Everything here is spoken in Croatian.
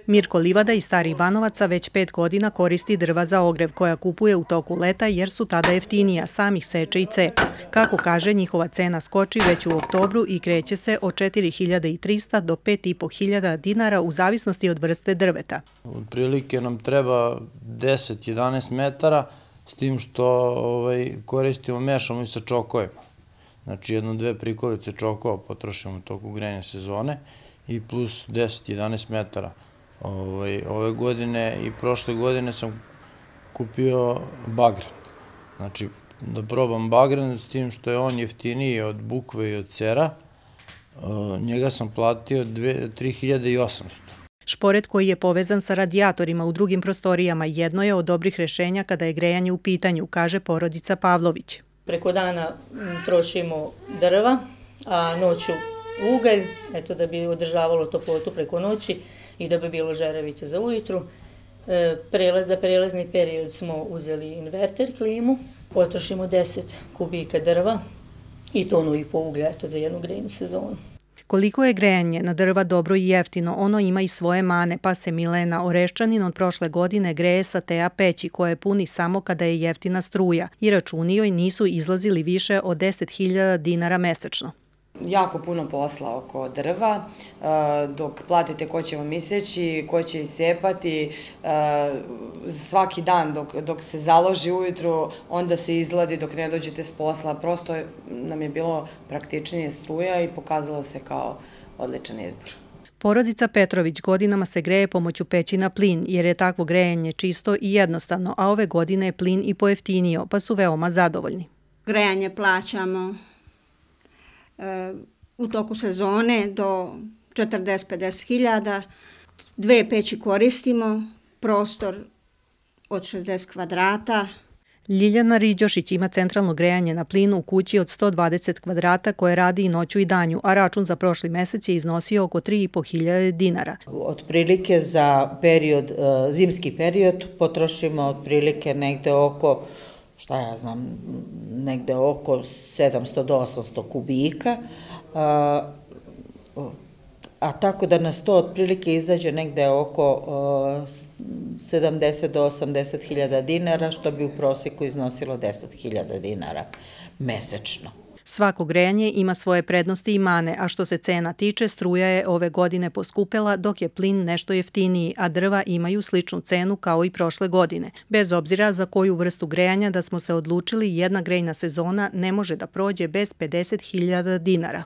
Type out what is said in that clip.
Mirko Livada iz Starih Banovaca već 5 godina koristi drva za ogrev koja kupuje u toku leta jer su tada jeftinija, samih seče i cepa. Kako kaže, njihova cena skoči već u oktobru i kreće se od 4.300 do 5.500 dinara u zavisnosti od vrste drveta. Otprilike nam treba 10-11 metara, s tim što koristimo, mešamo i sa čokovima. Znači 1-2 prikolice čokova potrošimo u toku grejne sezone i plus 10-11 metara. Ove godine i prošle godine sam kupio bagren. Znači da probam bagren, s tim što je on jeftiniji od bukve i od cera. Njega sam platio 3.800. Šporet koji je povezan sa radijatorima u drugim prostorijama jedno je od dobrih rešenja kada je grejanje u pitanju, kaže porodica Pavlović. Preko dana trošimo drva, a noću ugalj, eto da bi održavalo toplotu preko noći i da bi bilo žerevice za ujutru. Za prelazni period smo uzeli inverter klimu, potrošimo 10 kubika drva i 1,5 tonu uglja za jednu grejnu sezonu. Koliko je grejanje na drva dobro i jeftino, ono ima i svoje mane, pa se Milena Oreščanin od prošle godine greje sa TA peći koje puni samo kada je jeftina struja i računi joj nisu izlazili više od 10.000 dinara mesečno. Jako puno posla oko drva, dok platite ko će vam iseći, ko će iscepati, svaki dan dok se založi ujutru, onda se izladi dok ne dođete s posla. Prosto nam je bilo praktičnije struja i pokazalo se kao odličan izbor. Porodica Petrović godinama se greje pomoću peći na plin jer je takvo grejanje čisto i jednostavno, a ove godine je plin i pojeftinio, pa su veoma zadovoljni. Grejanje plaćamo u toku sezone do 40-50 hiljada. 2 peći koristimo, prostor od 60 kvadrata. Ljiljana Riđošić ima centralno grejanje na plin u kući od 120 kvadrata koje radi i noću i danju, a račun za prošli mesec je iznosio oko 3.500 dinara. Otprilike za zimski period potrošimo otprilike negde oko, negde oko 700 do 800 kubika, a tako da nas to otprilike izađe negde oko 70 do 80 hiljada dinara, što bi u prosjeku iznosilo 10.000 dinara mesečno. Svako grejanje ima svoje prednosti i mane, a što se cena tiče, struja je ove godine poskupela, dok je plin nešto jeftiniji, a drva imaju sličnu cenu kao i prošle godine. Bez obzira za koju vrstu grejanja da smo se odlučili, jedna grejna sezona ne može da prođe bez 50.000 dinara.